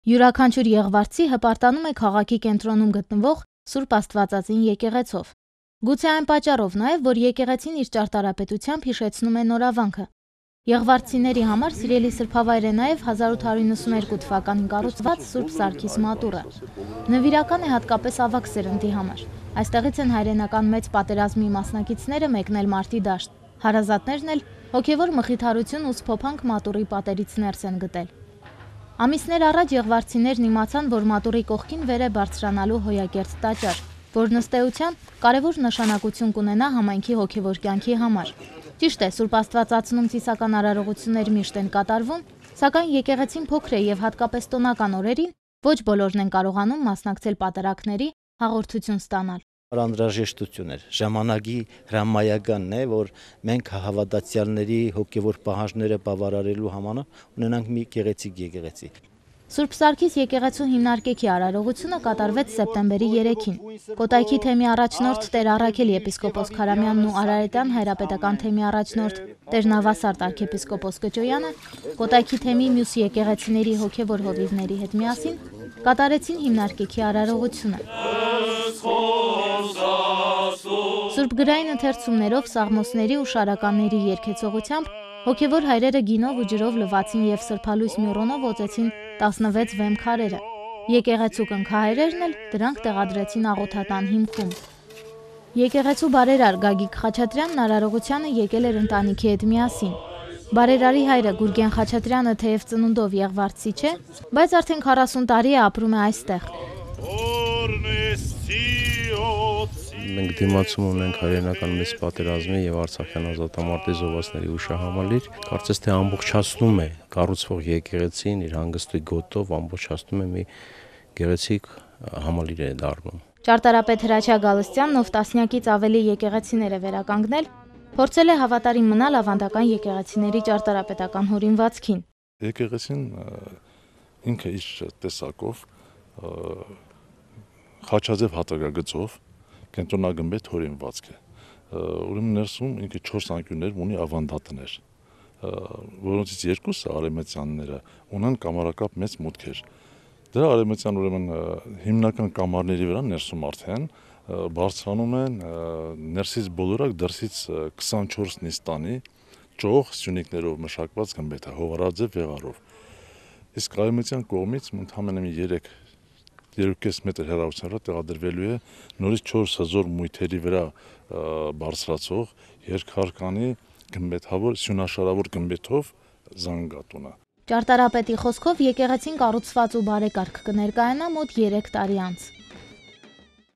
Յուրաքանչյուր եղվարցի հպարտանում է քաղաքի կենտրոնում գտնվող Սուրբ Աստվածածին եկեղեցով։ Գուցե այն պատճառով նաև, որ եկեղեցին իր ճարտարապետությամբ հիշեցնում է նորավանքը։ Եղվարցիների համար սիրելի սրբավայր է նաև 1892 թվականին կառուցված Սուրբ Սարգիս մատուռը։ Նվիրական է հատկապես ավագ սերնդի համար։ Այստեղից են հայրենական մեծ պատերազմի մասնակիցները մեկնել մարտի դաշտ։ Հարազատներն էլ հոգևոր մխիթարություն ու սփոփանք մատուռի պատերից ներս են գտել։ Ամիսներ առաջ եղվարցիներն իմացան, որ մատուռի կողքին վեր է բարձրանալու հոյակերտ տաճար, որն ըստ էության կարևոր նշանակություն կունենա համայնքի հոգևոր կյանքի համար։ Ճիշտ է, Սուրբ Աստվածածնում ծիսական արարողություններ միշտ են կատարվում, սակայն եկեղեցին փոքր է եւ հատկապես տոնական օրերին ոչ բոլորն են կարողանում մասնակցել պատարակների, հաղորդություն ստանալ։ Անհրաժեշտություն էր, ժամանակի հրամայականն է, որ մենք հավատացյալների հոգևոր պահանջները բավարարելու համար ունենանք մի գեղեցիկ եկեղեցի։ Սուրբ Սարգիս եկեղեցու հիմնարկեքի արարողությունը կատարվեց սեպտեմբերի 3-ին։ Կոտայքի թեմի առաջնորդ Տեր Առաքել եպիսկոպոս Քարամյանն ու Արարատյան հայրապետական թեմի առաջնորդ Տեր Նավասարդ arczepiskopos Կճոյանը Կոտայքի թեմի մյուս եկեղեցիների հոգևոր հովիվների հետ միասին կատարեցին հիմնարկեքի արարողությունը։ Սուրբ գրային ընթերցումներով, սաղմոսների ու շարականների երգեցողությամբ հոգևոր հայրերը գինով ու ջրով լվացին եւ սրբալույս մյուրոնով օծեցին 16 վեմ քարերը։ Եկեղեցու կնքահայրերն էլ դրանք տեղադրեցին աղոթատան հիմքում։ Եկեղեցու բարերար Գագիկ Խաչատրյանն արարողությանը եկել էր ընտանիքի հետ միասին։ Բարերարի հայրը Գուրգեն Խաչատրյանը թեև ծնունդով եղվարցի չէ, բայց արդեն 40 տարի է ապրում է այստեղ։ Մենք դիմացում ունենք հայրենական մեծ պատերազմի եւ Արցախյան ազատամարտի զոհվածների հուշահամալիր, կարծես թե ամբողջացնում է կառուցվող եկեղեցին իր հանգստի գոտով, ամբողջացնում է մի գեղեցիկ համալիր է դառնում։ Ճարտարապետ Հրաչյա Գալստյանն, ով տասնյակից ավելի եկեղեցիներ է վերականգնել, փորձել է հավատարիմ մնալ ավանդական եկեղեցիների ճարտարապետական հորինվածքին։ Եկեղեցին ինքը իր տեսակով խաչաձև հատակագծով կենտրոնագմբեթ հորինվածք է։ Ուրեմն ներսում ինքը 4 անկյուններ ունի ավանդատներ, որոնցից երկուսը արևմտյանները ունեն կամարակապ մեծ մուտքեր։ Դրա արևմտյան ուրեմն հիմնական կամարների վրա ներսում արդեն բարձրանում են ներսից բոլորակ դրսից 24 նիստանի ճոխ սյունիկներով մշակված գմբեթը հովարաձև վեղարով։ Իսկ արևմտյան կողմից ընդհանրապես 3.5 մետր հեռավորությամբ տեղադրվելու է նորից 4 հզոր մույթերի վրա բարձրացող երկհարկանի գմբեթավոր սյունաշարավոր գմբեթով զանգատունը։ Ճարտարապետի խոսքով եկեղեցին կառուցված ու բարեկարգ կներկայանա մոտ 3 տարի անց։